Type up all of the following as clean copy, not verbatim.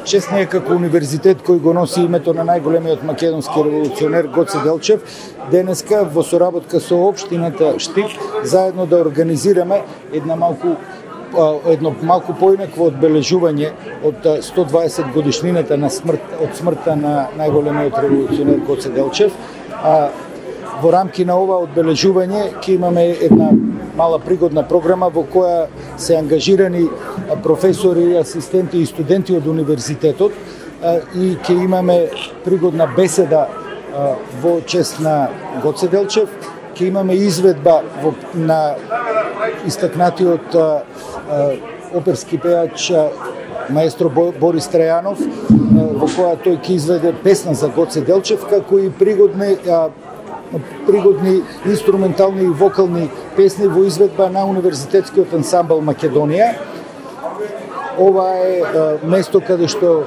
чест ни е како универзитет кој го носи името на најголемиот македонски револуционер Гоце Делчев, денеска во соработка со општината Штип заедно да организираме едно малку поинакво одбележување од 120 годишнината на смртта на најголемиот револуционер Гоце Делчев. Во рамки на ова одбележување ќе имаме една мала пригодна програма во која се ангажирани професори, асистенти и студенти од универзитетот и ќе имаме пригодна беседа во чест на Гоце Делчев, ќе имаме изведба на истакнатиот оперски пеач маестро Борис Трајанов, во која тој ќе изведе песна за Гоце Делчев, како и пригодни инструментални и вокални песни во изведба на Универзитетскиот ансамбл Македонија. Ова е место каде што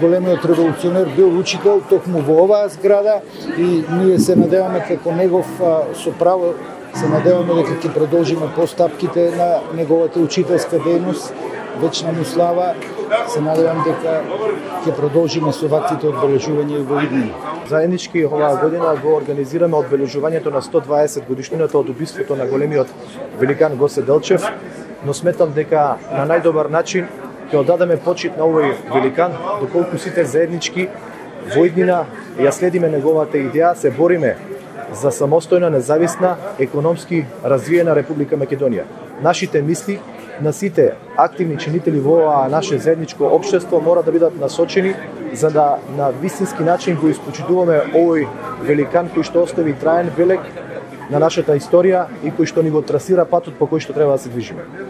големиот револуционер бил учител токму во оваа зграда и ние се надеваме како негов со право се надеваме дека ќе продолжиме постапките на неговата учителска дејност. Вечна му слава. Се надевам дека ќе продолжиме со ваквите одбележувања и во иднина. Заеднички оваа година го организираме одбележувањето на 120 годишнината од убиството на големиот великан Гоце Делчев, но сметам дека на најдобар начин ќе оддадеме почит на овој великан, доколку сите заеднички во иднина ја следиме неговата идеја, се бориме за самостојна, независна, економски развиена Република Македонија. Нашите мисли на сите активни чинители во оваа наше заедничко општество мора да бидат насочени за да на вистински начин го испочитуваме овој великан кој што остави траен белег на нашата историја и кој што ни го трасира патот по кој што треба да се движиме.